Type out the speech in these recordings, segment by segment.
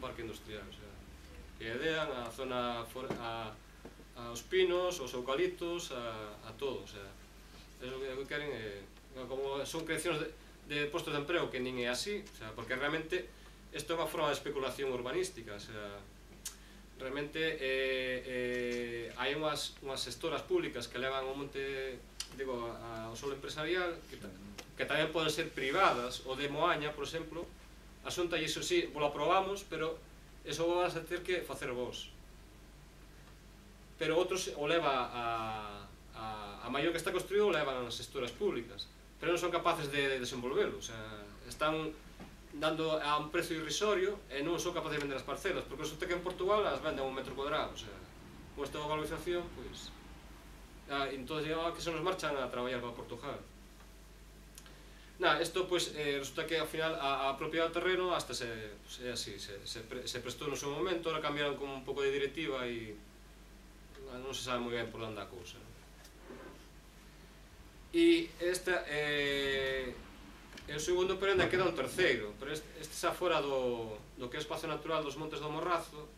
parque industrial, o sea, que idean a zona, aos pinos, aos eucaliptos, a todo, o sea, é o que queren, como son creacións de postos de emprego que nin é así, o sea, porque realmente isto é unha forma de especulación urbanística, o sea, realmente hai unhas xestoras públicas que levan o monte, digo, ao solo empresarial, que tamén poden ser privadas, o de Moaña, por exemplo, a Xunta, e iso sí, lo aprobamos, pero iso vas a ter que facer vos. Pero outros o leva a maior que está construído, o levan as xestoras públicas, pero non son capaces de desenvolverlo, o sea, están dando a un precio irrisorio e non son capaces de vender as parcelas, porque resulta que en Portugal as venden a un metro cuadrado, o sea, con esta valorización, pois, entón que se nos marchan a traballar para Portugal. Isto, pois, resulta que ao final a propiedade do terreno hasta é así, se prestou no seu momento, ahora cambiaron como un pouco de directiva e non se sabe moi ben por onde anda a cousa. E esta é o segundo, pero ainda queda un terceiro, pero este xa fora do que é o espacio natural dos Montes do Morrazo,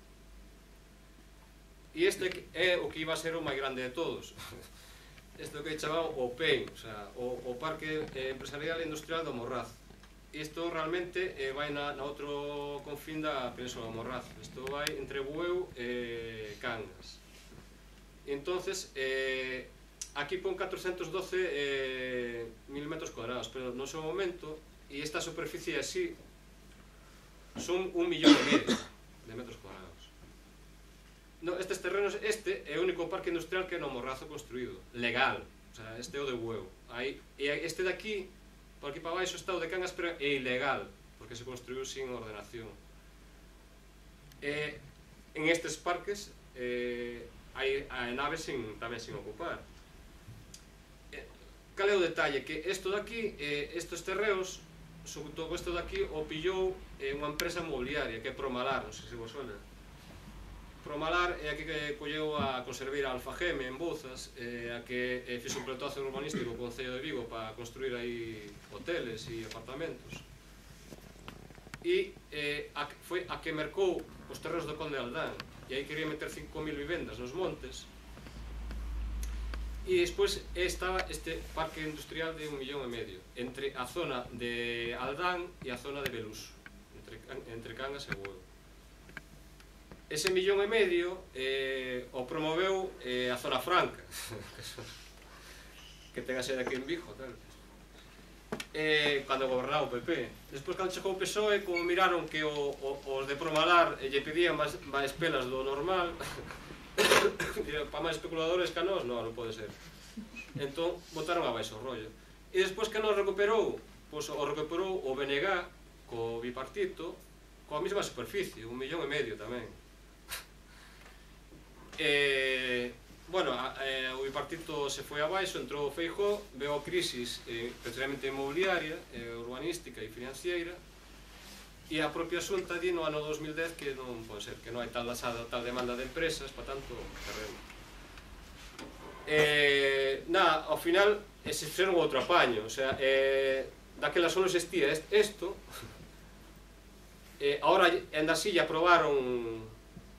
e este é o que iba a ser o máis grande de todos. Este é o que chamado o PEI, o sea, o Parque Empresarial e Industrial do Morrazo. Isto realmente vai na outro confín da Península do Morrazo, isto vai entre Bueu e Cangas. E entonces, aquí pon 412.000 metros cuadrados, pero no seu momento, e esta superficie así, son 1,5 millón de metros cuadrados. Estes terrenos, este é o único parque industrial que é no Morrazo construído, legal, o sea, este é o de Bueu. E este de aquí, por aquí para baixo, está o de Cangas, pero é ilegal, porque se construiu sin ordenación. En estes parques hai naves tamén sin ocupar. Cal é o detalle? Que isto daqui, estes terreos, sobre todo isto daqui, o pillou unha empresa inmobiliaria, que é Promalar, non sei se vos suena. Promalar é a que colleu a Conserveira Alfageme en Bouzas, a que fixo un pletazo urbanístico co Concello de Vigo para construir aí hoteles e apartamentos. E foi a que mercou os terreos do Conde de Aldán, e aí quería meter 5.000 vivendas nos montes. E despois estaba este parque industrial de 1,5 millón entre a zona de Aldán e a zona de Belús, entre Cangas e Bueu. Ese 1,5 millón o promoveu a Zona Franca, que ten a sede aquí en Vigo, tal. Cando gobernaba o PP. Despois, cando chegou o PSOE, como miraron que os de Promalar lle pedían máis pelas do normal, para máis especuladores que a nós, non pode ser. Entón, botaron abaixo o rollo. E despois que nos recuperou, pois o recuperou o BNG co bipartito, coa mesma superficie, 1,5 millón tamén. Bueno, o bipartito se foi abaixo, entrou o Feijóo, veo a crisis especialmente inmobiliaria, urbanística e financiera, e a propia Xunta di no ano 2010 que non pode ser, que non hai tal demanda de empresas para tanto terreno. Ao final se fixeron outro apaño, o sea, daquela só non existía isto, agora ainda así lle aprobaron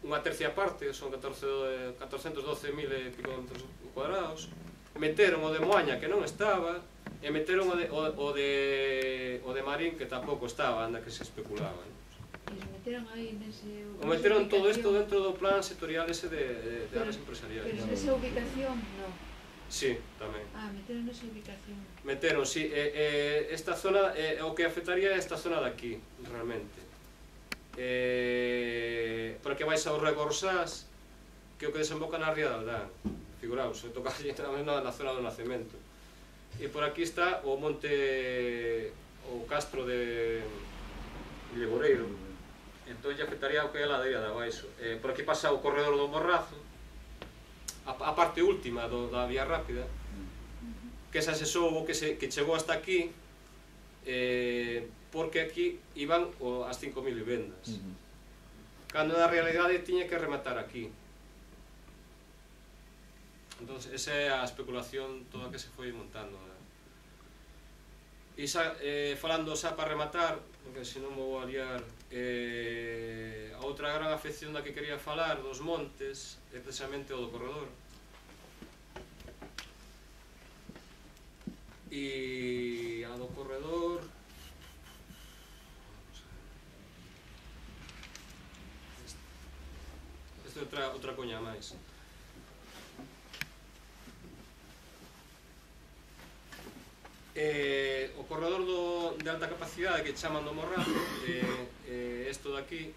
unha tercia parte, son 412.000 e pico metros cuadrados, meteron o de Moaña que non estaba, e meteron o de Marín que tampouco estaba, anda que se especulaba. O meteron todo isto dentro do plan sectorial ese de áreas empresariales. Pero esa ubicación, non? Sí, tamén. Meteron esa ubicación. Meteron, sí. Esta zona, o que afectaría é esta zona de aquí, realmente. Porque vais ao Rego Orsás, que é o que desemboca na ría de Aldán. Figuraos, toca allí na zona do nacemento. E por aquí está o monte, o castro de Legoreiro. Entón lle afectaría o que é a ladeira de abaixo. Por aquí pasa o corredor do Morrazo, a parte última da vía rápida, que esa se soubo que chegou hasta aquí, porque aquí iban as 5.000 vivendas. Cando na realidade tiña que rematar aquí. Entón, esa é a especulación toda que se foi montando. E falando xa para rematar, porque senón vou a liar, outra gran afección da que quería falar dos montes é precisamente o do corredor. E a do corredor... Esta é outra coña máis. O corredor de alta capacidade que chaman do Morrazo, isto daqui,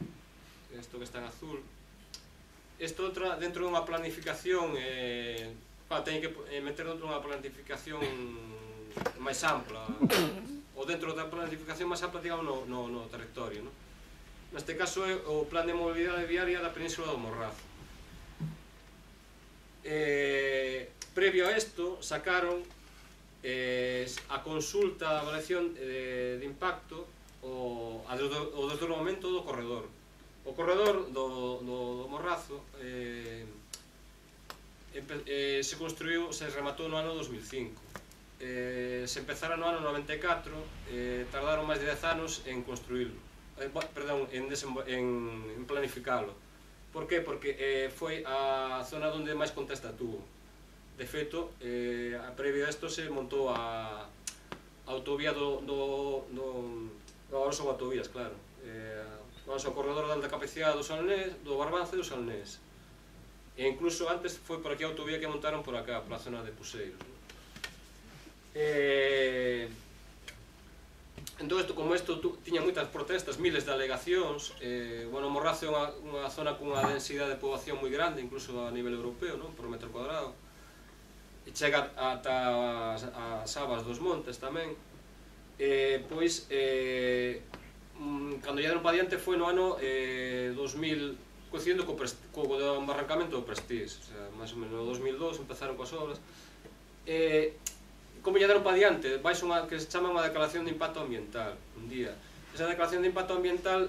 isto que está en azul, isto dentro dunha planificación, teñen que meter dentro dunha planificación máis ampla, ou dentro da planificación máis ampla, digamos, no territorio, non? Neste caso é o plan de mobilidade viaria da Península do Morrazo. Previo a isto, sacaron a consulta, a avaliación de impacto, o desdobramento do corredor. O corredor do Morrazo se construiu, se rematou no ano 2005. Se empezara no ano 94, tardaron máis de 10 anos en construílo, perdón, en planificalo. Por que? Porque foi a zona onde máis contesta tuvo. De feito, previo a isto se montou a autovía agora son autovías, claro, o corredor de alta capacidade do Barbanza e do Salnés. E incluso antes foi por aquí a autovía que montaron por acá, pola zona de Puseiros. Entón, como isto tiña moitas protestas, miles de alegacións, bueno, Morrazo é unha zona cunha densidade de poboación moi grande, incluso a nivel europeo, non? Por metro cuadrado, e chega ata as abas dos montes tamén. Pois, cando lle deron pa diante foi no ano 2000, coincidindo co embarrancamento do Prestige, o sea, máis ou menos no 2002 empezaron coas obras. Como lle deron pa diante, vais unha que se chama unha declaración de impacto ambiental un día. Esa declaración de impacto ambiental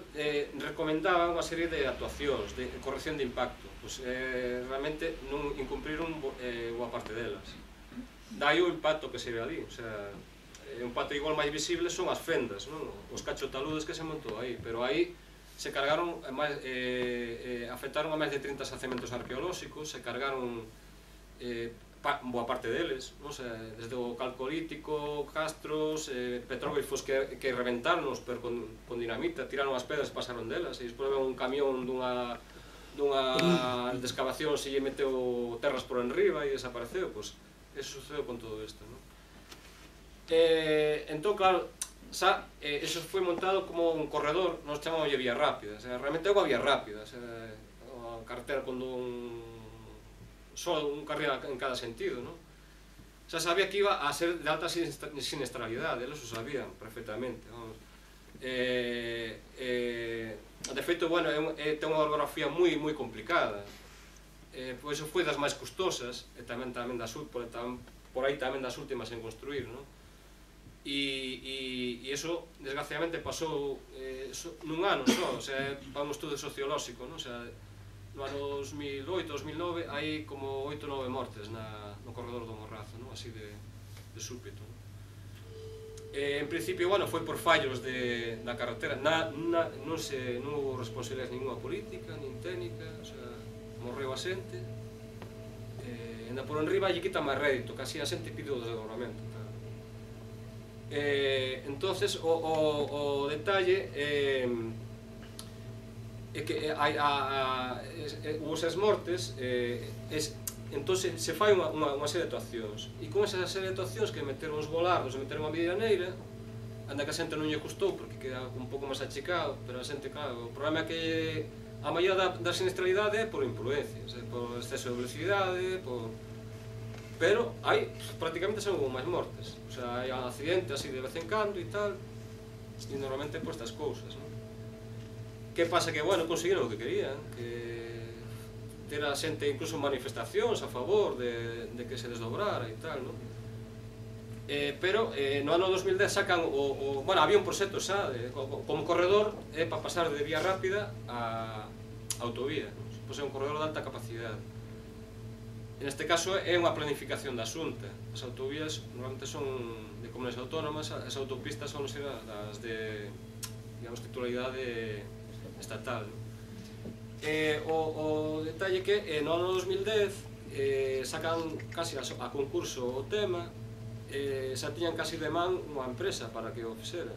recomendaba unha serie de actuacións de corrección de impacto, pois realmente non incumpriron boa parte delas. Dai o impacto que se ve ali, o sea, o impacto igual máis visible son as fendas, non? Os cachotaludes que se montou aí, pero aí se cargaron, afectaron a máis de 30 xacementos arqueolóxicos, se cargaron boa parte deles, non? Desde o calcolítico, castros, petróglifos que reventaronlos, pero con dinamita, tiraron as pedras e pasaron delas, e despois un camión dunha de excavación se lle meteu terras por enriba e desapareceu, pois eso sucedeu con todo isto, non? Entón, claro, eso foi montado como un corredor, nos chamamos de vía rápida, realmente é unha vía rápida, a carretera con só un carril en cada sentido, non? Xa sabía que iba a ser de alta siniestralidade, eles o sabían perfectamente, vamos. De feito, bueno, ten unha orografía moi complicada, pois foi das máis custosas, e tamén por aí tamén das últimas en construir, non? E iso, desgraciadamente, pasou nun ano só, o sea, para un estudo sociolóxico, non? O sea, no ano 2008-2009 hai como 8 ou 9 mortes no corredor do Morrazo, así de súbito. En principio, bueno, foi por fallos da carretera, non houve responsabilidades ninguna política, nin técnica, o sea, morreu a xente, ainda por enriba lle quita máis rédito, casi a xente pide o desdobramento. Entonces, o detalle é que os mortes, entón se fai unha serie de actuacións, e con esa serie de actuacións que meteron os volardos e meteron a medianeira, anda que a xente non lle custou porque queda un pouco máis achicado, pero a xente, claro, o problema é que a maioría da siniestralidade é por imprudencias, por exceso de velocidade, pero hai, prácticamente son máis mortes, o sea, hai accidentes así de vez en cando e tal, e normalmente por estas cousas, non? Que pasa que, bueno, conseguiron o que querían, que ter a xente incluso manifestacións a favor de que se desdobrara e tal, non? Pero no ano 2010 sacan bueno, había un proxecto xa como corredor para pasar de vía rápida a autovía, pois é un corredor de alta capacidade. En este caso é unha planificación da Xunta. As autovías normalmente son de comunidades autónomas, as autopistas son das de, digamos, titularidade estatal. O detalle que no ano 2010 sacan casi a concurso o tema, xa tiñan casi de man unha empresa para que o fixera,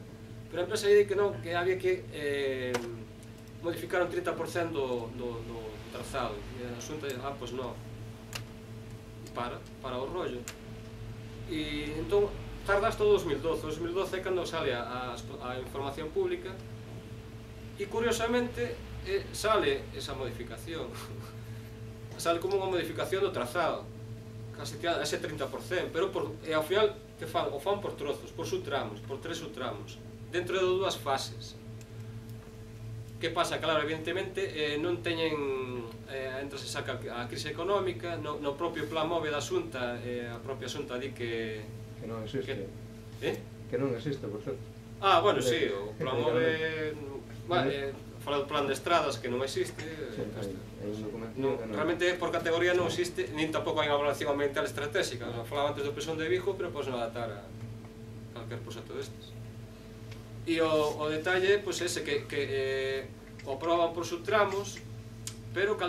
pero a empresa lle di que non, que había que modificar un 30% do trazado, e a Xunta dice, pois non, para o rollo. E entón tarda hasta o 2012. O 2012 é cando sale a información pública e curiosamente sale esa modificación. Sale como unha modificación do trazado, casi ese 30%, pero ao final que fan? O fan por trozos, por subtramos, por 3 subtramos, dentro de 2 fases. Que pasa? Claro, evidentemente non teñen, entre se saca a crise económica, no propio plan MOVE da Xunta, a propia Xunta di que non existe. Que non existe, por certo. Bueno, sí, o plan MOVE, fala do plan de estradas que non existe. Realmente por categoría non existe, nin tampouco hai unha evaluación ambiental estratégica. Falaba antes do Pesón de Vigo, pero podes non adaptar a calquer proxecto destes. E o detalle é ese, que o aproban por subtramos, pero que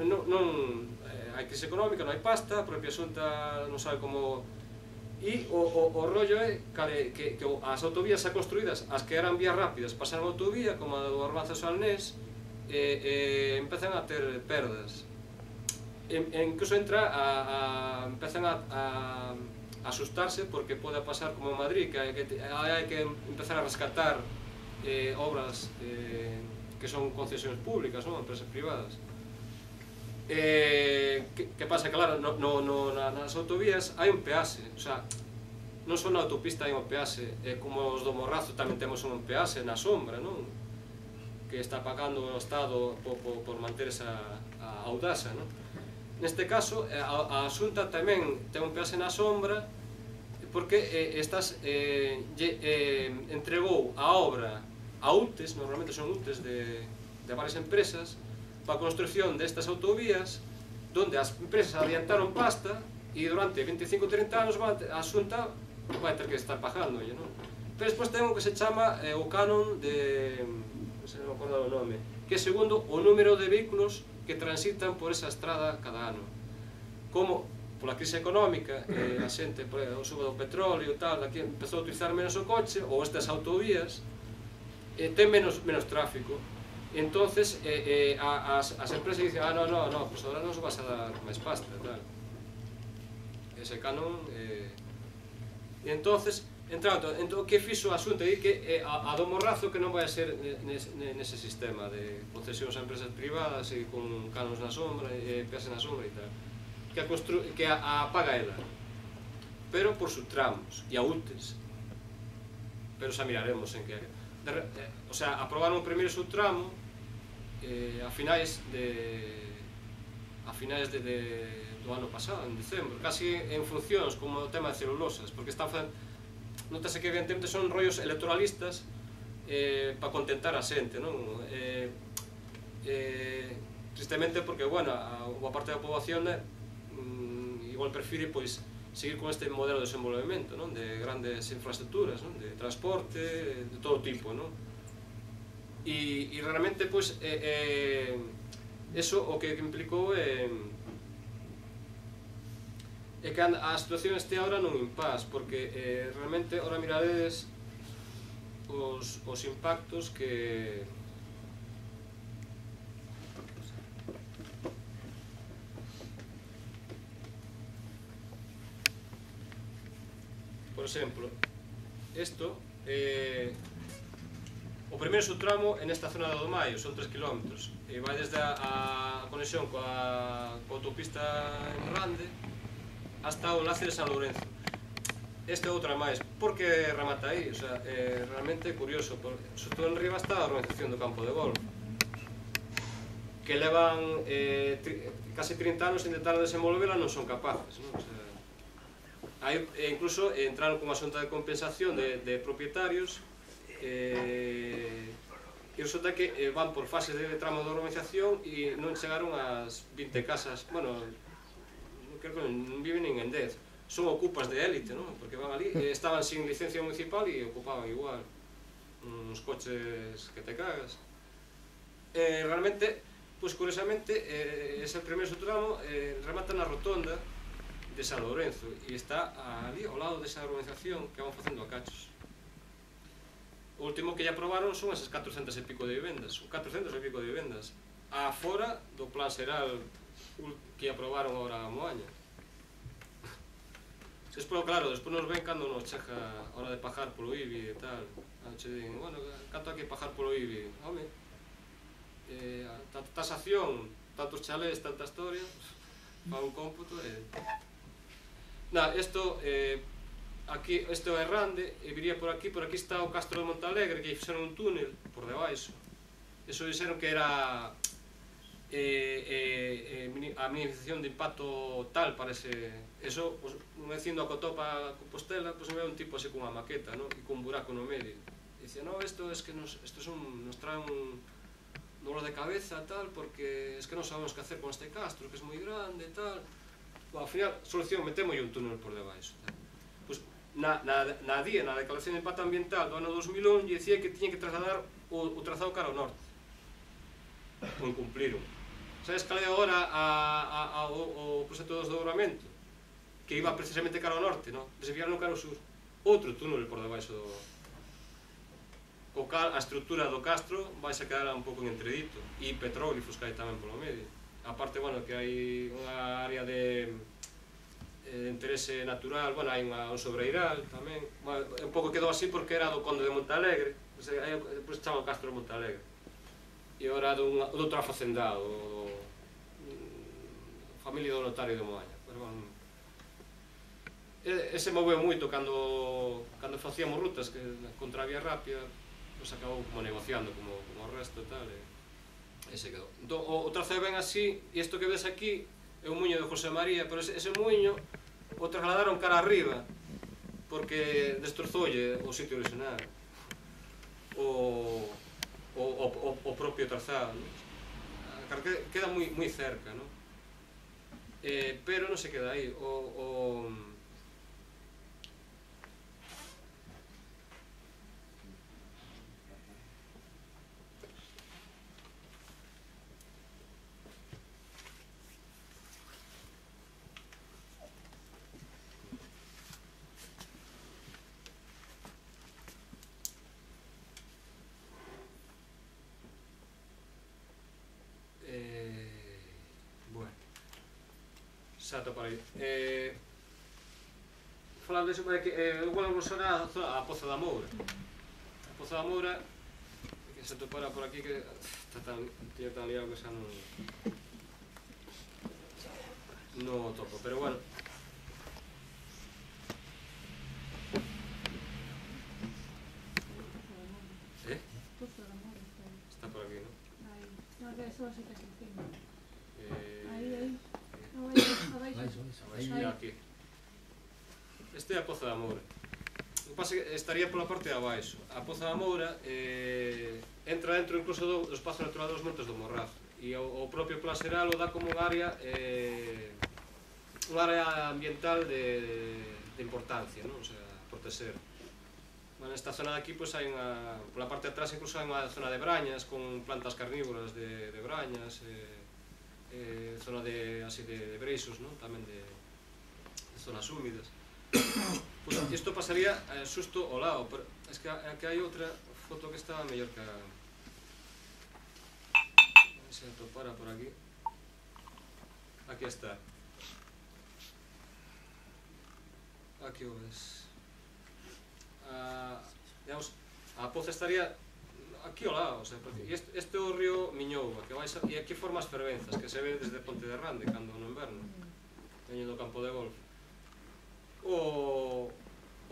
non hai crise económica, non hai pasta, a propia Xunta non sabe como. E o rollo é que as autovías xa construídas, as que eran vías rápidas, pasaron a autovía, como a do Arbanzas ao Alnés, empezan a ter perdas. Incluso empezan a asustarse porque pode pasar como en Madrid, que hai que empezar a rescatar obras que son concesións públicas, empresas privadas. Que pasa? Claro, nas autovías hai un peaxe, o sea, non só na autopista hai un peaxe, como os do Morrazo tamén temos un peaxe na sombra, non? Que está pagando o Estado por manter esa audaxa, non? Neste caso, a Xunta tamén ten un peaxe na sombra porque entregou a obra a UTES, normalmente son UTES de varias empresas, para a construcción destas autovías, donde as empresas adiantaron pasta e durante 25-30 anos a Xunta vai ter que estar pagando, non? Pero despois ten o que se chama o canon de... non sei, non me acordo o nome, que é segundo o número de vehículos que transitan por esa estrada cada ano. Como pola crise económica, a xente, o subo do petróleo e tal, aquí empezou a utilizar menos o coche, ou estas autovías, ten menos tráfico. Entonces as empresas dicen, no, pues ahora nos vas a dar máis pasta, tal. Ese canon e entonces que fixo a Xunta? Di que a do Morrazo que non vai a ser nese sistema de concesións a empresas privadas e con canons na sombra e peaxe na sombra e tal, que a paga ela, pero por subtramos e a UTES, pero xa miraremos en que o sea, aprobaron o primeiro subtramo a finais do ano pasado, en diciembre, casi en funcións como o tema de celulosas, porque notase que evidentemente son rollos electoralistas para contentar a xente, non? Tristemente porque, bueno, a boa parte da poboación igual prefire seguir con este modelo de desenvolvemento, non? De grandes infraestructuras, non? De transporte, de todo tipo, non? E realmente, eso o que implicou é que a situación este agora nun impás, porque realmente, ahora miradedes os impactos que... Por exemplo, isto, o primeiro subtramo é nesta zona do Maio, son 3 km, e vai desde a conexión coa autopista en Rande hasta o enlace de San Lourenzo. Este é outra máis, porque remata aí, o sea, realmente é curioso, sobre todo en riba está a organización do campo de golf, que levan casi 30 anos intentando desenvolvela, non son capaces, non? O sea, incluso entraron con unha xunta de compensación de propietarios e resulta que van por fases de tramo de urbanización e non chegaron ás 20 casas, bueno, creo que non viven nin en 10, son ocupas de élite, non? Porque van ali, estaban sin licencia municipal e ocupaban igual uns coches que te cagas. Realmente Pois, curiosamente, ese primeiro tramo remata na rotonda de San Lourenzo e está ali ao lado desa urbanización que van facendo a cachos. O último que lle aprobaron son esas 400 e pico de vivendas, a fora do plan xeral que aprobaron agora a Moaña. Despois, claro, despois nos ven cando nos chega a hora de pagar polo IBI e tal. Che din, bueno, canto hai que pagar polo IBI? Home, tasación, tantos chalés, tanta historia, para un cómputo e... Isto aquí, isto é Rande, e viría por aquí está o Castro de Montalegre, que fixeron un túnel por debaixo. Eso dixeron que era a minimización de impacto tal para ese... Eso, dicindo a Cotopa Compostela, pois me ve un tipo así cunha maqueta, e cun buraco no medio. E dice, no, isto es que nos trae un dolor de cabeza, tal, porque es que non sabemos que hacer con este castro, que es moi grande, tal. Ao final, solución, metemos un túnel por debaixo. Pois, na declaración de impacto ambiental do ano 2001, dicía que tiña que trasladar o trazado cara ao norte. O incumpliron. Sabes cal é agora o proxecto do desdobramento? Que iba precisamente cara ao norte, non? Desviaron cara ao sur. Outro túnel por debaixo do... O cal, a estrutura do castro vai se quedar un pouco en entredito. E petróglifos que hai tamén polo medio. Aparte, bueno, que hai unha área de interese natural, bueno, hai un sobreiral tamén. Un pouco quedou así porque era do Conde de Montalegre, depois se chama o Castro de Montalegre. E ora do outro afacendado, familia do notario de Moaña. Ese moveu moito cando facíamos rutas contra a Vía Rápida, pois acabou como negociando como o resto e tal, e se quedou. O trazado ven así, e isto que ves aquí é o muiño de José María, pero ese muiño o trasladaron cara arriba porque destrozoulle o sitio original, o propio trazado, queda moi cerca, pero non se queda aí. Exacto, por aí. Falando disso, eu vou evolucionar a Poza da Moura. A Poza da Moura, que se topara por aquí, que está tan liado que xa non topo, pero bueno. Poza da Moura está por aquí, non? Aí, non, que só se que se encima. Aí. Aquí. Este é a Poza da Moura. O que pasa é que estaría pola parte de abaixo. A Poza da Moura entra dentro incluso do espazo natural dos Montes do Morrazo, e o propio plan xeral o dá como unha área ambiental de importancia, non? O sea, proteger. Nesta zona de aquí, hai unha, pola parte de atrás incluso hai unha zona de brañas con plantas carnívoras de brañas, zona de breixos, tamén de zonas húmidas. Isto pasaría xusto ao lado, pero é que aquí hai outra foto que está mellor que a... Se atopara por aquí. Aquí está. Aquí o ves. Digamos, a Poza estaría aquí ao lado, este é o río Miñouba, e aquí forma as fervenzas, que se ve desde Ponte de Rande, cando no inverno, veño do campo de golf. O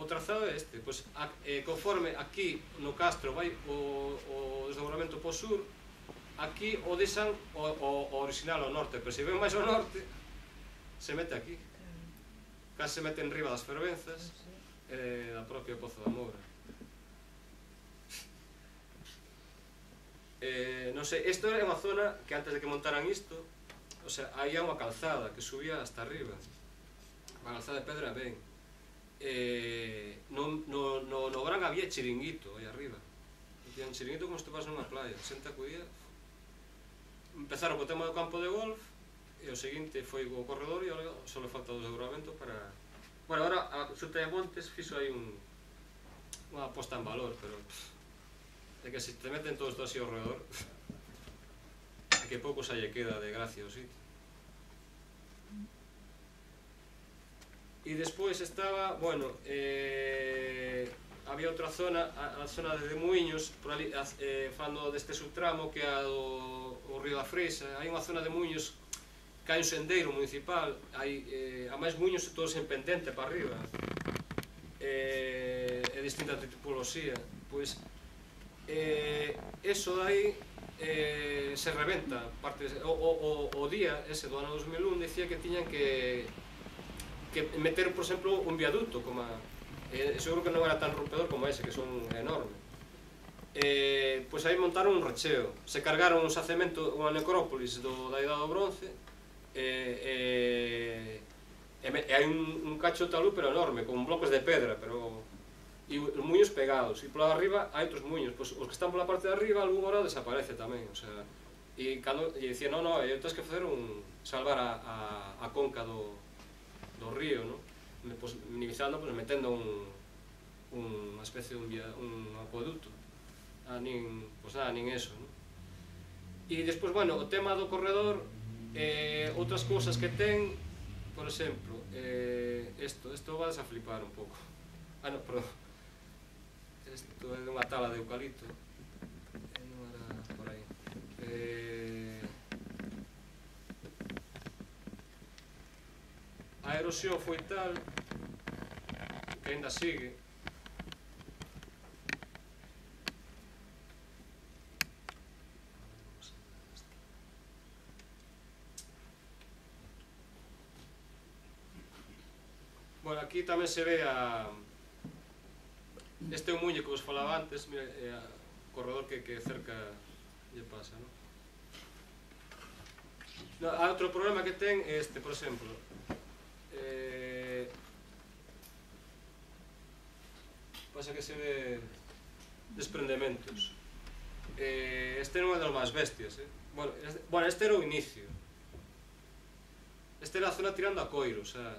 trazado é este, conforme aquí no Castro vai o desdobramento po sur, aquí o deixan o original ao norte, pero se ven máis ao norte, se mete aquí. Case se mete en riba das fervenzas da propia Poza da Moura. Non sei, isto era unha zona que antes de que montaran isto, o sea, aí hai unha calzada que subía hasta arriba, unha calzada de pedra ben. No verán había chiringuito aí arriba, tiñan chiringuito como se topas nunha playa, xente acudía, empezaron co tema do campo de golf, e o seguinte foi o corredor, e agora só le falta o desdobramento para... Bueno, agora a Xunta de Montes fixo aí unha aposta en valor, pero é que se te meten todos así ao redor, é que pouco xa lle queda de gracia o sitio. E despois estaba, bueno, había outra zona, a zona de Muiños, por ali, falando deste subtramo que é o río da Freisa, hai unha zona de Muiños que hai un sendeiro municipal, a máis Muiños todos en pendente para arriba, e distinta tipoloxía, pois eso dai se rebenta. O día ese do ano 2001 dicía que tiñan que meter, por exemplo, un viaducto, como seguro que non era tan rompedor como ese, que son enormes. Pois aí montaron un recheo, se cargaron un xacemento, unha necrópolis da Idade do Bronce, e hai un cacho de talud pero enorme, con bloques de pedra, e os muiños pegados, e pola arriba hai outros muiños, pois os que están pola parte de arriba algún hora desaparece tamén, o sea, e dicían, non, tens que facer salvar a conca do río, non? Minimizando, metendo unha especie de un acueducto, nin eso, non? E despois, bueno, o tema do corredor, outras cousas que ten, por exemplo, isto vas a flipar un pouco. Non, perdón. Isto é dunha tala de eucalipto. Non era por aí. A erosión foi tal que ainda sigue. Bueno, aquí tamén se ve este é un muelle que vos falaba antes, mira, o corredor que cerca lle pasa, non? Há outro problema que ten este, por exemplo, pasa que se ve desprendementos. Este non é dos máis bestias, bueno, este era o inicio. Este era a zona tirando a Coiro, o sea,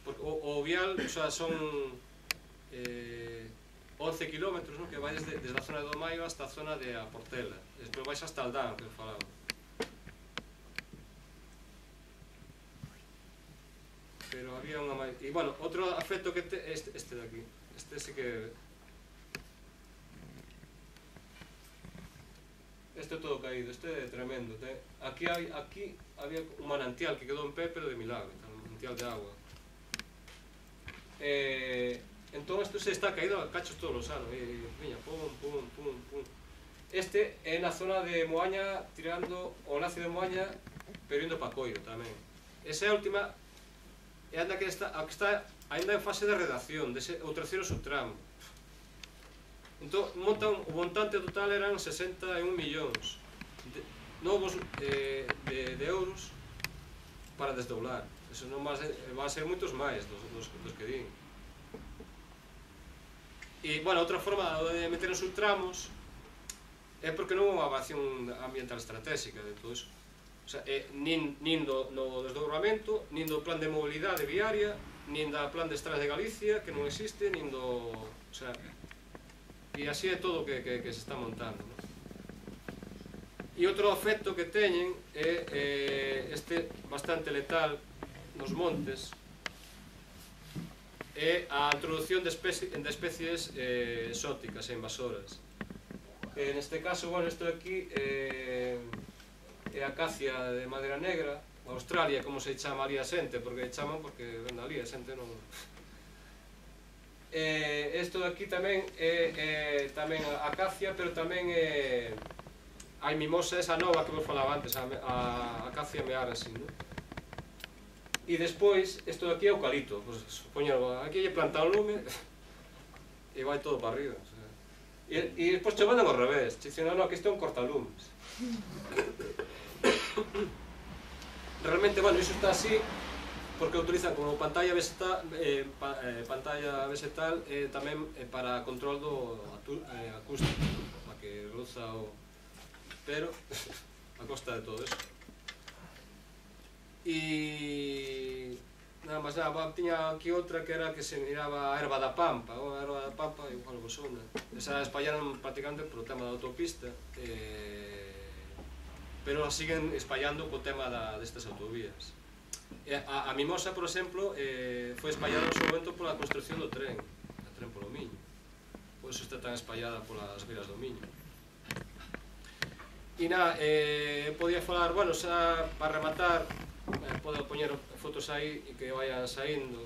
o vial, o sea, son 11 kilómetros, que vai desde a zona do Maio hasta a zona de a Portela, despois vais hasta Aldán, que eu falaba. Pero había unha máis... E, bueno, outro afecto que te... Este de aquí. Este sí que... Este é todo caído, este é tremendo. Aquí había un manantial que quedou en pé, pero de milagro, un manantial de agua. Entón, isto se está caído a cachos todos os anos. Viña, pum, pum, pum, pum. Este é na zona de Moaña, tirando o enlace de Moaña, pero indo para Coiro tamén. Esa é a última... É a que está ainda en fase de redacción, o terceiro subtramo. Entón, o montante total eran 61 millóns novos de euros para desdoblar. Eso non van a ser moitos máis dos que din. E, bueno, outra forma de meter os subtramos é porque non é unha evaluación ambiental estratégica de todo iso. O sea, nin no desdobramento, nin do plan de mobilidade viaria, nin da plan de estradas de Galicia, que non existe, nin do... O sea, e así é todo que se está montando, non? E outro efecto que teñen é este bastante letal nos montes, é a introducción de especies exóticas e invasoras. Neste caso, bueno, isto aquí é acacia de madeira negra, Australia, como se chamaría xente, porque chaman porque ven ali, a xente non... Isto de aquí tamén é tamén acacia, pero tamén hai mimosa esa nova que vos falaba antes, a acacia mearasi, non? E despois, isto de aquí é eucalipto, aquí lle planta un lume e vai todo para arriba. E despois che mandan ao revés, che dicen, non, que isto é un cortalumes. Realmente, bueno, iso está así porque utilizan como pantalla vegetal tamén para control do acústico, para que reduza o... Pero a costa de todo eso. E nada máis nada, tiña aquí outra que era que se miraba a erva da pampa, a erva da pampa, igual vos sona. Esa espallaron prácticamente polo tema da autopista, pero a siguen espallando co tema destas autovías. A Mimosa, por exemplo, foi espallada no seu momento pola construcción do tren polo Miño. Por iso está tan espallada polas vilas do Miño. E nada, podía falar, bueno, xa para rematar, podo poñer fotos aí e que vayan saindo.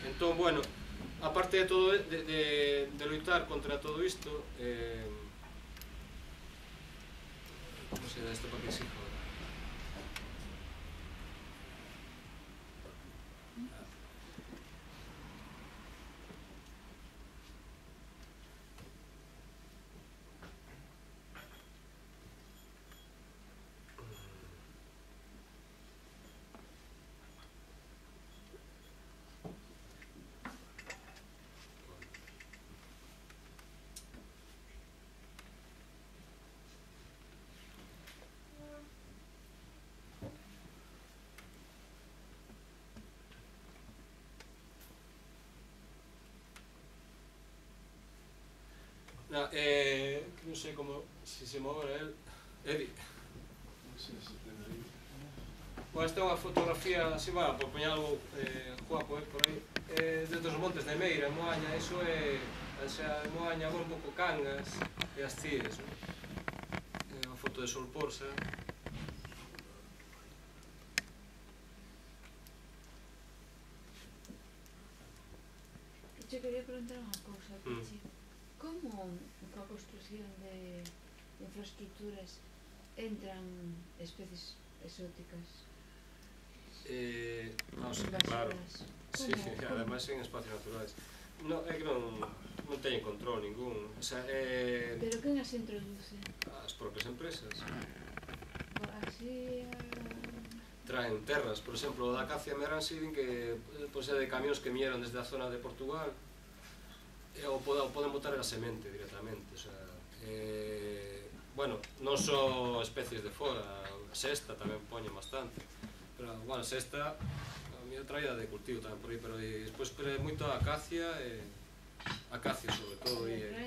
Entón, bueno, aparte de todo, de luitar contra todo isto, non sei, isto para que exija ahora. Non sei como, se se move el. Edi. Bueno, esta é unha fotografía, así, bueno, por poñer algo guapo por aí, desde os montes de Meira, en Moaña, iso é, xa, en Moaña, un pouco Cangas e as Cires, non? É unha foto de Solporsa. Che quería preguntar unha cousa, como coa construcción de infraestructuras entran especies exóticas? Claro, sí, ademais en espacios naturais. É que non teñen control ningún. Pero quen as introduce? As propias empresas. Así... Traen terras, por exemplo, da Acacia Meransi, que pode ser de camións que viñeron desde a zona de Portugal, ou poden botar a semente directamente. Bueno, non só especies de fora, a sesta tamén poñen bastante, pero, bueno, a sesta a mí traía de cultivo tamén por aí, pero despois moito a acacia, acacia sobre todo, e a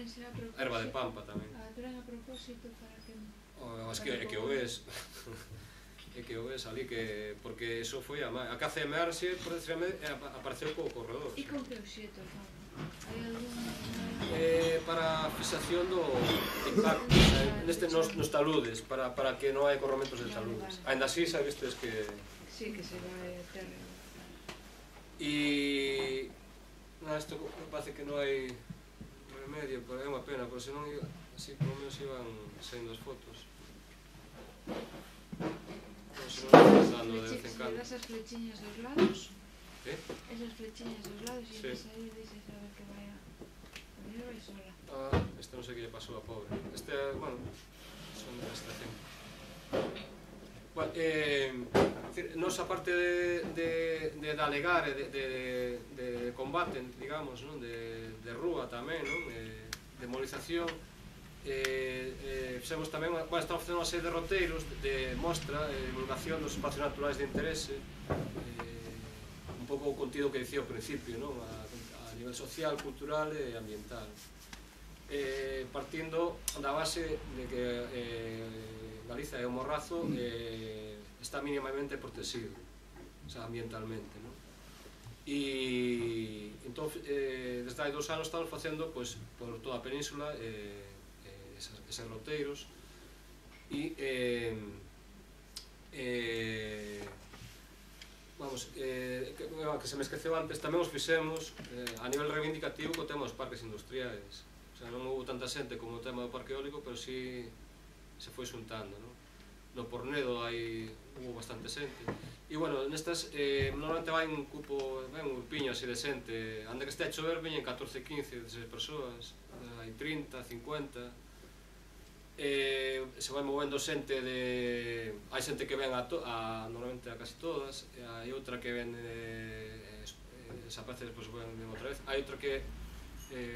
erva de pampa tamén. Traen a propósito para que... É que o ves, é que o ves ali, porque eso foi a Acacia Meransi, por decirme, apareceu co corredor. E con que obxeto fan? Hai algún... Para a fixación do impacto, nos taludes, para que non hai corramentos de taludes. Ainda así, sabestes que... Sí, que se vai a terra. E... Isto parece que non hai remedio, pero é unha pena, porque senón, así, por lo menos iban saindo as fotos. Se das as flechiñas dos lados? Esas flechiñas dos lados e entras aí e deixas a ver que vai a... A mí vai sola. Este non sei que lle pasou a pobre. Este, bueno, son de estación. Bueno, nos, aparte de dalegar e de combate, digamos, de rúa tamén, de movilización, fixemos tamén, estamos facendo unha serie de roteiros de mostra, divulgación dos espacios naturais de interese, un pouco o contido que dicía ao principio, a nivel social, cultural e ambiental, partindo da base de que Galiza é un morrazo está mínimamente protegido, ambientalmente, e entón desde hai 2 anos estamos facendo por toda a península eses roteiros e que se me esqueceu antes, tamén os fixemos a nivel reivindicativo co tema dos parques industriais. Non houve tanta xente como o tema do parque eólico, pero si se foi xuntando. No Pornedo houve bastante xente. E, bueno, nestas normalmente vai un grupo, un grupiño así de xente. Ande que este a chover, veñen 14, 15, 16 persoas, hai 30, 50. Se vai movendo xente de... Hai xente que ven normalmente a casi todas, hai outra que ven desaparece, despois ven outra vez, hai outra que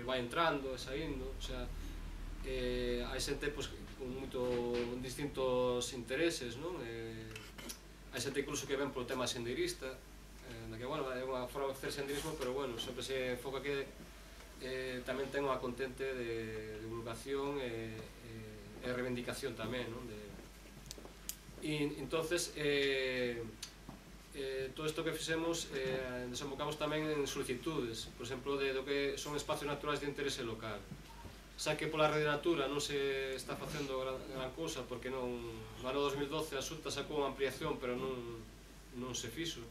vai entrando e saindo, o sea, hai xente con distintos intereses, non? Hai xente incluso que ven polo tema sendeirista, que, bueno, é unha forma de facer senderismo, pero, bueno, sempre se enfoca que tamén ten unha contente de divulgación e reivindicación tamén, non? E, entonces, todo isto que fixemos desembocamos tamén en solicitudes, por exemplo, do que son espacios naturais de interese local. Xa que pola Rede Natura non se está facendo gran cousa, porque no ano 2012 a Xunta sacou unha ampliación, pero non se fixo.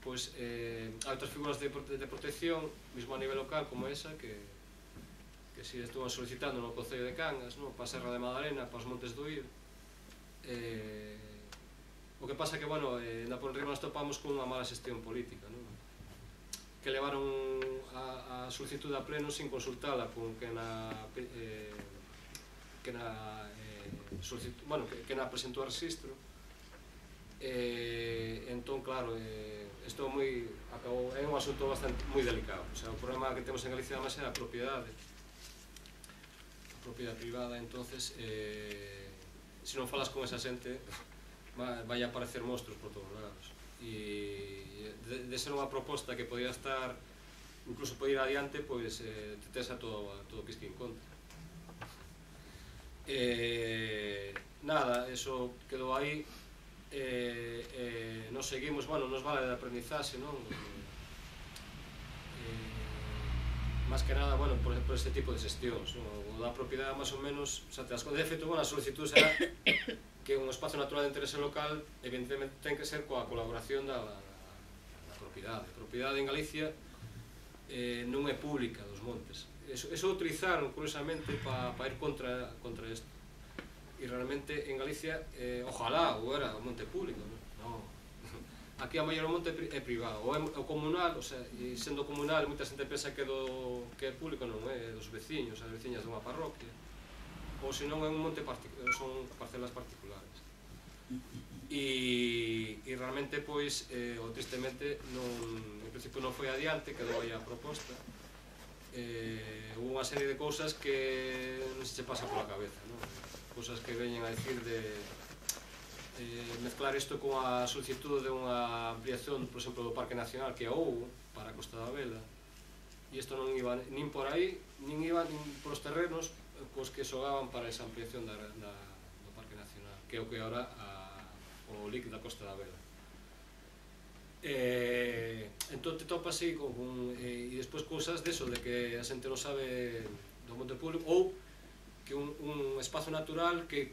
Pois hai outras figuras de protección, mesmo a nivel local, como esa, que si estuvan solicitando no Concello de Cangas, para a Serra de Madalena, para os Montes do Ir. O que pasa que, bueno, na Ponriba nos topamos con unha mala xestión política, que levaron a solicitud a pleno sin consultala con que na presentou a registro. Entón, claro, isto é un asunto moi delicado. O problema que temos en Galicia además é a propiedade privada. Entonces, se non falas con esa xente, vai a aparecer monstruos por todos lados. E de ser unha proposta que podía estar, incluso poder ir adiante, pois te tes a todo o que en contra. Nada, eso quedou aí. Nos seguimos, bueno, nos vale de aprendizaxe, non? Más que nada, bueno, por este tipo de xestións, o da propiedade, máis ou menos, xa te das conta. De feito, bueno, a solicitud será que un espacio natural de interese local, evidentemente, ten que ser coa colaboración da propiedade. A propiedade en Galicia non é pública dos montes. Eso utilizaron, curiosamente, para ir contra isto. E realmente en Galicia, ojalá hubiera un monte público, non? Aquí a maior monte é privado, ou é comunal, e sendo comunal, moita xente pensa que é público, non é dos veciños, as veciñas dunha parroquia, ou senón é un monte particular, son parcelas particulares. E realmente, pois, tristemente, en principio non foi adiante, quedou aí a proposta. Hubo unha serie de cousas que non se pasa pola cabeza, non? Cousas que veñen a dicir de mezclar isto con a solicitud de unha ampliación, por exemplo, do Parque Nacional que houve para a Costa da Vela, e isto non iba nin por aí, nin iba nin polos terrenos cos que xogaban para esa ampliación do Parque Nacional, que é o que agora o LIC da Costa da Vela. Entón te topas así e despois cousas deso, de que a xente non sabe do monte público, ou que un espazo natural que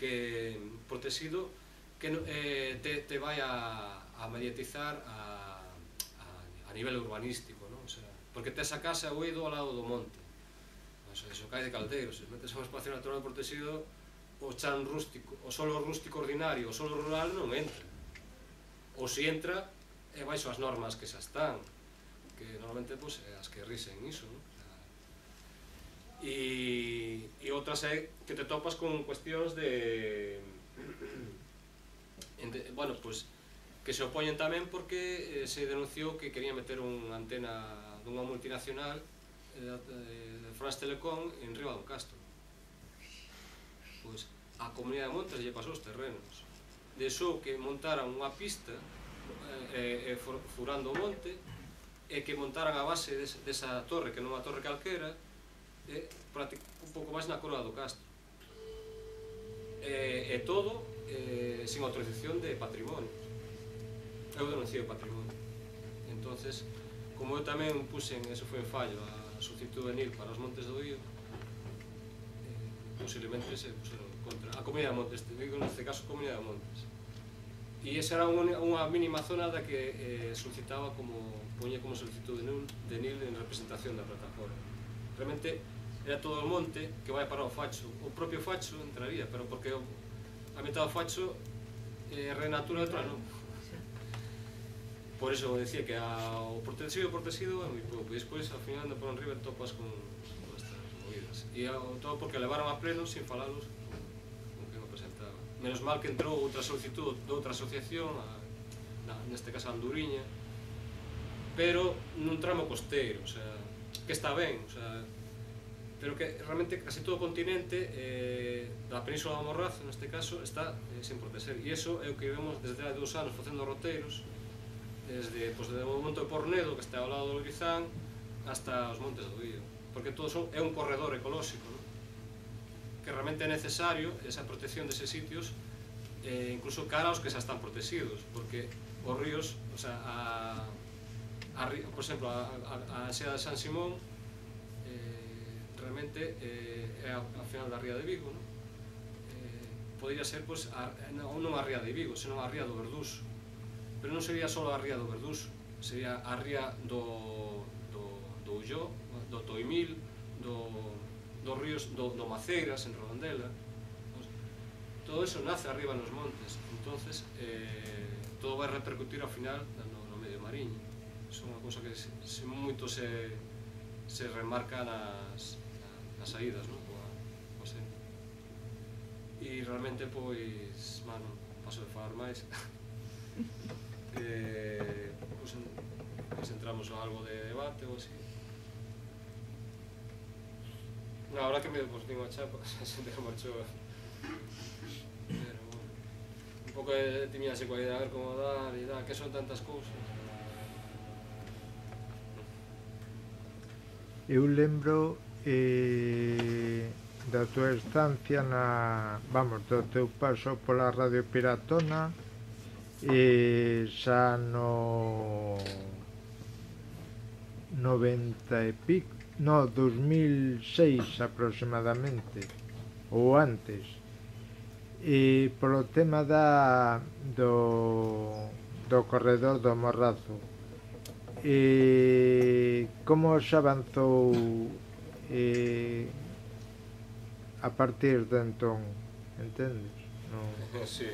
protegido que te vai a mediatizar a nivel urbanístico, porque tes a casa ou ido ao lado do monte, iso cae de caldeiro. Se metes a un espacio natural protegido, o chan rústico, o solo rústico ordinario, o solo rural non entra, ou se entra é baixo as normas que xa están, que normalmente as que risen iso, e outras é que te topas con cuestións de bueno, pois que se opoñen tamén porque se denunciou que querían meter unha antena dunha multinacional de France Telecom en Riba do Castro. Pois a Comunidade de Montes lle pasou os terrenos, deixou que montaran unha pista furando o monte, e que montaran a base desa torre, que non é unha torre calquera, un pouco máis na coroa do Castro, e todo sin autorización de patrimonio. Eu denunciei o patrimonio. Entonces, como eu tamén puxen, eso foi en fallo, a solicitud de NIL para os Montes do Ir, posiblemente se puseron contra a Comunidade de Montes, digo neste caso Comunidade de Montes. E esa era unha mínima zona da que solicitaba poñía como solicitud de NIL en representación da plataforma. Realmente era todo o monte que vai para o Facho. O propio Facho entraría, pero porque a metade do Facho é Rede Natura e outra non. Por iso decía que o protegido é moi pouco, e despois ao final por enriba topas con estas movidas. E todo porque levaron a pleno sin falalos con que non presentaba. Menos mal que entrou outra solicitud de outra asociación, neste caso Anduriña, pero nun tramo costeiro, que está ben, pero que realmente casi todo o continente da Península do Morrazo, neste caso, está sen proteger, e iso é o que vemos desde hai 2 anos facendo roteiros, desde o monte de Pornedo, que está ao lado do Guizán, hasta os montes do Ío, porque todo é un corredor ecolóxico, non? Que realmente é necesario esa protección deses sitios, incluso cara aos que xa están protegidos, porque os ríos, o sea, por exemplo, a Xea de San Simón realmente é ao final da ría de Vigo, non? Podría ser, non a ría de Vigo, senón a ría do Verdús, pero non sería só a ría do Verdús, sería a ría do Ulló, do Toimil, dos ríos do Maceiras, en Redondela. Todo eso nace arriba nos montes, entonces todo vai repercutir ao final no medio mariño. É unha cousa que moito se remarca nas saídas, non? E realmente, pois, mano, paso de falar máis. Pois entramos a algo de debate ou así. Na hora que me digo a chapa, se te marchou. Pero, bueno, un pouco timía así coa idea de ver como dar e dar, que son tantas cousas. Eu lembro da tua estancia do teu paso pola Radio Piratona xa no 90 e pico, no 2006 aproximadamente, ou antes, e polo tema do corredor do Morrazo. Como se avanzou a partir de entón, entendes? Sí.